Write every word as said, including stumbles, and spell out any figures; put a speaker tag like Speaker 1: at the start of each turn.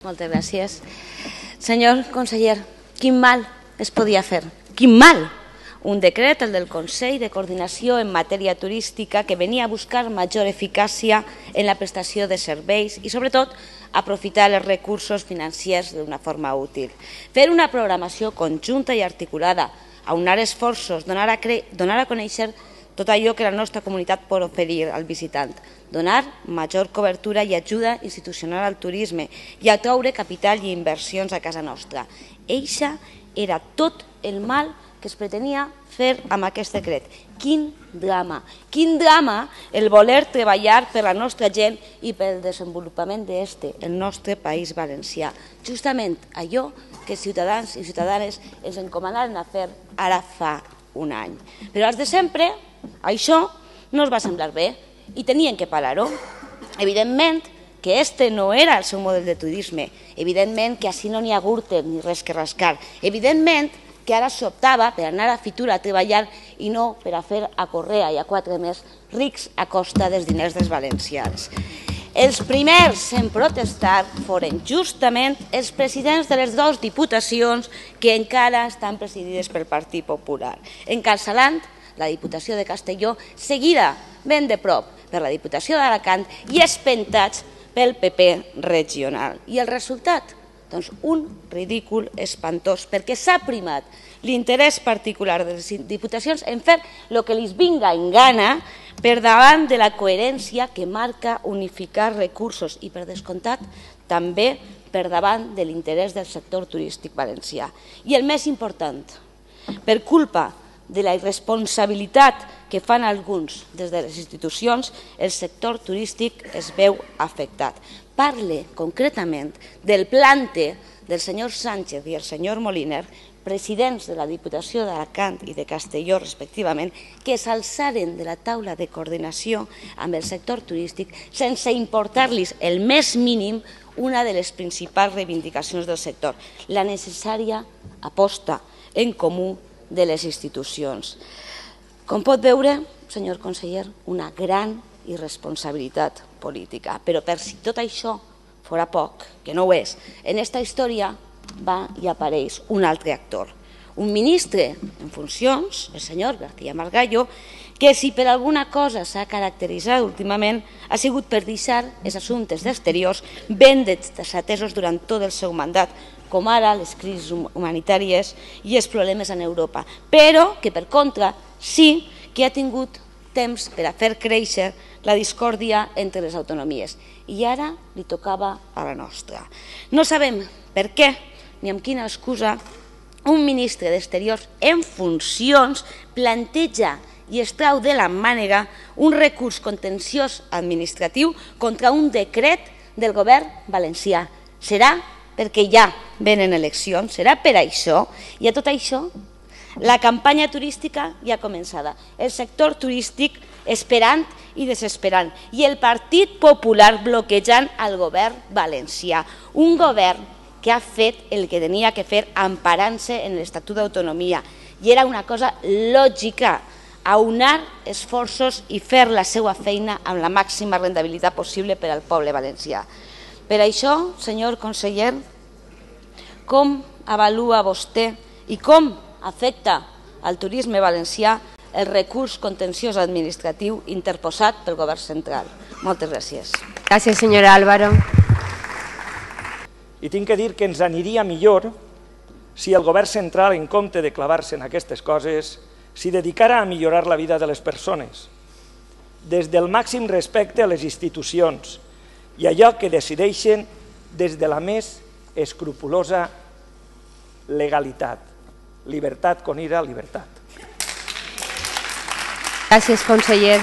Speaker 1: Moltes gràcies. Senyor conseller, quin mal es podia fer? Quin mal! Un decret, el del Consell de Coordinació en matèria turística, que venia a buscar major eficàcia en la prestació de serveis i, sobretot, aprofitar els recursos financers d'una forma útil. Fer una programació conjunta i articulada, aunar esforços, donar a, donar a conèixer tot allò que la nostra comunitat pot oferir al visitant, donar major cobertura i ajuda institucional al turisme i atraure capital i inversions a casa nostra. Eixa era tot el mal que es pretenia fer amb aquest decret. Quin drama, quin drama el voler treballar per la nostra gent i pel desenvolupament d'este, el nostre país valencià. Justament allò que ciutadans i ciutadanes ens encomanaren a fer ara fa un any. Però als de sempre, això no els va semblar bé i tenien que parar-ho. Evidentment que este no era el seu model de turisme, evidentment que així no n'hi ha gurte ni res que rascar, evidentment que ara s'optava per anar a Fitur a treballar i no per a fer a Correa i a quatre més rics a costa dels diners dels valencians. Els primers en protestar foren justament els presidents de les dues diputacions que encara estan presidides pel Partit Popular. Encalçalant la Diputació de Castelló, seguida ben de prop per la Diputació d'Alacant i espentats pel P P regional. I el resultat? Doncs un ridícul espantós, perquè s'ha primat l'interès particular de les diputacions en fer el que els vinga en gana per davant de la coherència que marca unificar recursos i, per descomptat, també per davant de l'interès del sector turístic valencià. I el més important, per culpa de la irresponsabilitat que fan alguns des de les institucions, el sector turístic es veu afectat. Parle concretament del plante del senyor Sánchez i el senyor Moliner, presidents de la Diputació d'Alacant i de Castelló, respectivament, que s'alçaren de la taula de coordinació amb el sector turístic sense importar-los el més mínim una de les principals reivindicacions del sector, la necessària aposta en comú de les institucions. Com pot veure, senyor conseller, una gran irresponsabilitat política. Però per si tot això fora poc, que no ho és, en aquesta història va i apareix un altre actor, un ministre en funcions, el senyor García Margallo, que si per alguna cosa s'ha caracteritzat últimament ha sigut per deixar els assumptes d'exteriors ben desatesos durant tot el seu mandat, com ara les crisis humanitàries i els problemes en Europa, però que per contra sí que ha tingut temps per a fer créixer la discòrdia entre les autonomies. I ara li tocava a la nostra. No sabem per què ni amb quina excusa un ministre d'Exteriors en funcions planteja i es trau de la mànega un recurs contenciós administratiu contra un decret del govern valencià. Serà perquè ja venen eleccions, serà per això, i a tot això la campanya turística ja començada, el sector turístic esperant i desesperant, i el Partit Popular bloquejant el govern valencià, un govern que ha fet el que tenia que fer emparant-se en l'Estatut d'Autonomia, i era una cosa lògica, aunar esforços i fer la seva feina amb la màxima rendibilitat possible per al poble valencià. Per això, senyor conseller, com avalua vostè i com afecta al turisme valencià el recurs contenciós administratiu interposat pel govern central? Moltes gràcies.
Speaker 2: Gràcies, senyora Álvaro.
Speaker 3: I tinc que dir que ens aniria millor si el govern central, en compte de clavar-se en aquestes coses, s'hi dedicara a millorar la vida de les persones, des del màxim respecte a les institucions i allò que decideixen des de la més escrupulosa legalitat. Libertat con ira, libertat.
Speaker 2: Gràcies, conseller.